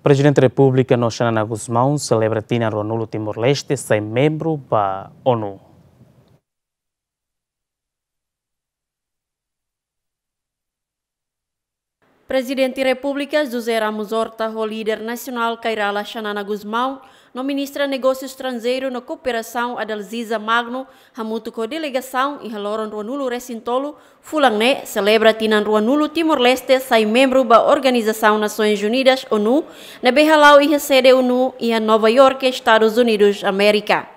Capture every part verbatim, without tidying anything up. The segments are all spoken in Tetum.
Prezidente Repúblika no Xanana Gusmão selebra tinan ruanulu Timor-Leste sai membru ba ONU. Prezidente Repúblika José Ramos Horta ho líder nasionál Kay Rala Xanana Gusmão, no Ministra Negósiu Estranjeiru no Kooperasaun Adalziza Magno, hamutuk ho delegasaun iha loron ruanulu resin tolu, fulan ne'e, selebra tinan ruanulu Timor-Leste sai membru ba Organizasaun Nasoins Unidas, ONU, ne'ebé hala'o iha sede ONU iha Nova York, Estadus Unidus Amérika.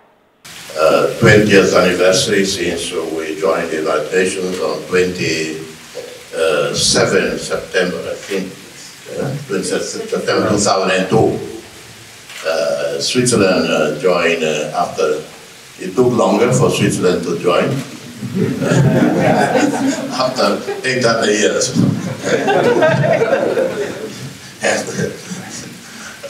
Uh, twentieth anniversary since we joined the United Nations on twenty-seven September, I think, uh, twenty-seven September two thousand two. Uh, Switzerland, uh, joined, uh, after, it took longer for Switzerland to join. After eight hundred years. And,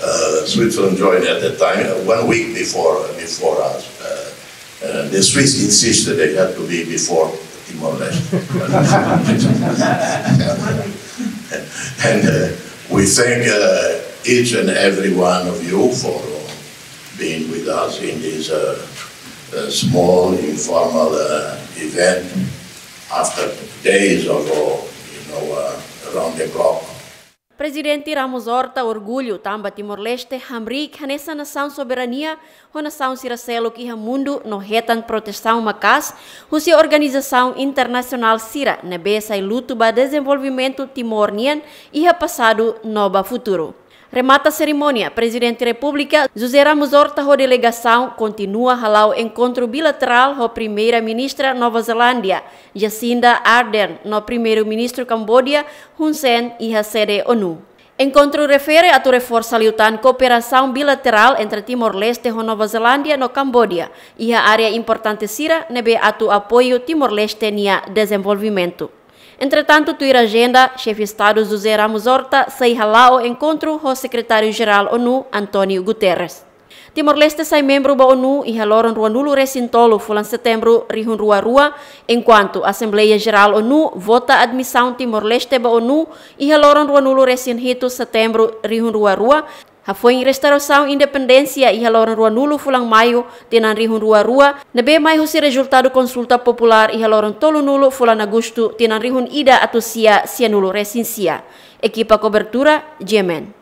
uh, Switzerland joined at that time, uh, one week before, before us. Uh, uh, the Swiss insisted they had to be before Timor-Leste. And, uh, we thank, uh, each and every one of you for, uh, being with us in this, uh, uh, small informal, uh, event after days of, uh, you know, uh, around the clock. Prezidente Ramos Horta orgullu tanba Timor-Leste hamriik hanesan nasaun soberania ho nasaun sira seluk iha mundu no hetan protesaun maka'as husi organizasaun internasionál sira ne'ebé sai lutu ba dezenvolvimentu Timor nian iha pasadu no ba futuru. Remata serimónia, Prezidente Repúblika José Ramos Horta ho delegasaun kontinua hala'o enkontru bilaterál ho Primeira-Ministra Nova Zelándia, Jacinda Ardern, no Primeiru-Ministru Kambodia, Hun Sen, iha sede ONU. Enkontru refere atu reforsa liután kooperasaun bilaterál entre Timor-Leste ho Nova Zelándia no Kambodia, iha área importante sira ne'ebé atu apoiu Timor-Leste nia dezenvolvimentu. Entretantu, tuir ajenda, Xefe Estadu José Ramos Horta sei hala'o enkontru ho Sekretáriu-Jerál ONU, António Guterres. Timor-Leste sai membru ba ONU iha loron ruanulu resin tolu fulan Setembru rihun rua rua, enkuantu Asembleia Jerál ONU vota admisaun Timor-Leste ba ONU iha loron ruanulu resin hitu Setembru rihun rua rua, hafoin restaurasaun independénsia iha loron ruanulu fulan Maiu tinan rihun rua rua, ne'ebé mai husi rezultadu konsulta populár iha loron tolunulu fulan Agostu tinan rihun ida atus sia sianulu resin sia. Ekipa kobertura, G M N.